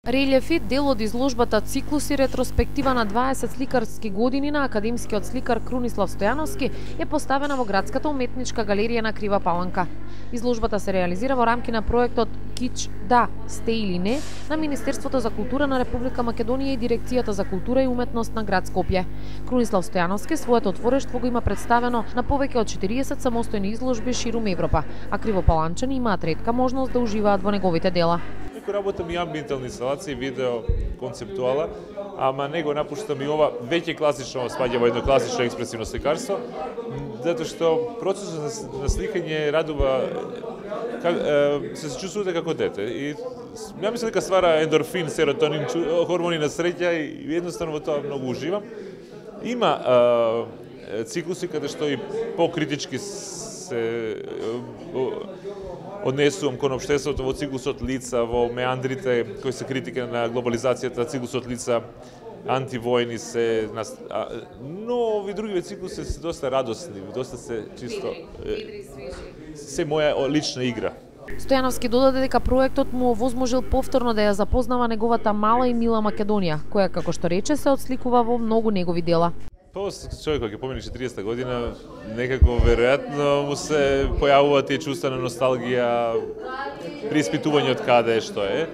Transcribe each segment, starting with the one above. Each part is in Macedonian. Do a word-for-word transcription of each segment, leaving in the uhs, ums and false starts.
Релјефи, дел од изложбата Циклуси, ретроспектива на дваесет сликарски години на академскиот сликар Крунислав Стојановски, е поставена во Градската уметничка галерија на Крива Паланка. Изложбата се реализира во рамки на проектот Кич да, сте или не на Министерството за култура на Република Македонија и Дирекцијата за култура и уметност на град Скопје. Крунислав Стојановски своето отворештво го има представено на повеќе од четириесет самостојни изложби ширум Европа, а кривопаланчани имаат ретка можност да уживаат во неговите дела. Работам и амбиентални инсталации, видео, концептуала, ама не го напуштам и ова веќе класично спаѓа во едно класично експресивно сликарство, затоа што процесот на сликање радува, се чувствувате како дете. И ја мислам дека ствара ендорфин, серотонин, хормони на среќа и едноставно во тоа многу уживам. Има а, циклуси каде што и покритички се однесувам кон општеството во циклусот лица, во меандрите кои се критика на глобализацијата, циклусот лица, антивојни се, но ови други циклуси се доста радосни, доста се чисто, се моја лична игра. Стојановски додаде дека проектот му овозможил повторно да ја запознава неговата мала и мила Македонија, која, како што рече, се отсликува во многу негови дела. Па човек кога ќе помине четириесетта година, некако веројатно му се појавува тие чувства на носталгија, преиспитување од каде е што е.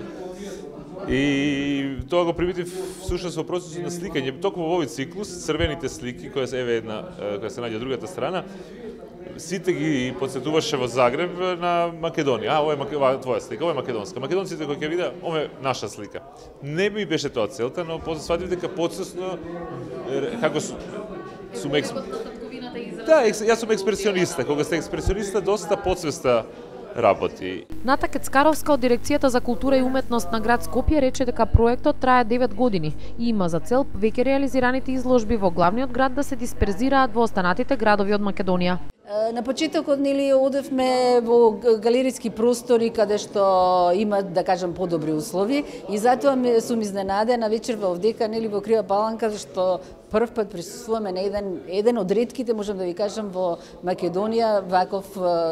И тоа го примитив всушност во процесот на сликање, токму во овој циклус, црвените слики, која се еве една, која се наѓа другата страна, сите ги подсетуваше во Загреб на Македонија. А, ова е ова твоја слика, ова е македонска. Македонците кои ќе видеа, ова е наша слика. Не ми беше тоа целта, но после сватив дека подсвесно како сум екс... Да, јас сум експресиониста. Кога сте експресиониста, доста подсвеста работи. Ната Кецкаровска од Дирекцијата за култура и уметност на град Скопје рече дека проектот трае девет години и има за цел веќе реализираните изложби во главниот град да се дисперзираат во останатите градови од Македонија. На почетокот нели одевме во галериски простори каде што имаат, да кажам, подобри услови и затоа сум изненадена вечерва овдека нели во Крива Паланка што прв пат присуствуваме на еден еден од ретките, можам да ви кажам, во Македонија ваков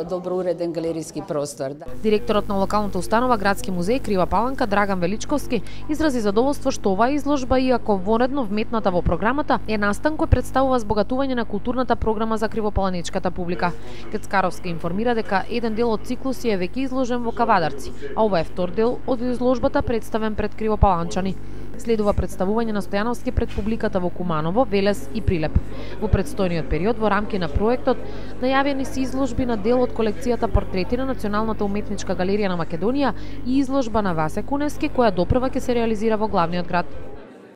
добро уреден галериски простор. Директорот на локалната установа Градски музеј Крива Паланка Драган Величковски изрази задоволство што оваа изложба, иако вонедно вметната во програмата, е настан кој представува збогатување на културната програма за кривопаланичката публика. Кецкаровска информира дека еден дел од циклуси е веќе изложен во Кавадарци, а ова е втор дел од изложбата представен пред кривопаланчани. Следува представување на Стојановски пред публиката во Куманово, Велес и Прилеп. Во предстојниот период во рамки на проектот најавени се изложби на дел од колекцијата портрети на Националната уметничка галерија на Македонија и изложба на Васе Куневски која допрва ќе се реализира во главниот град.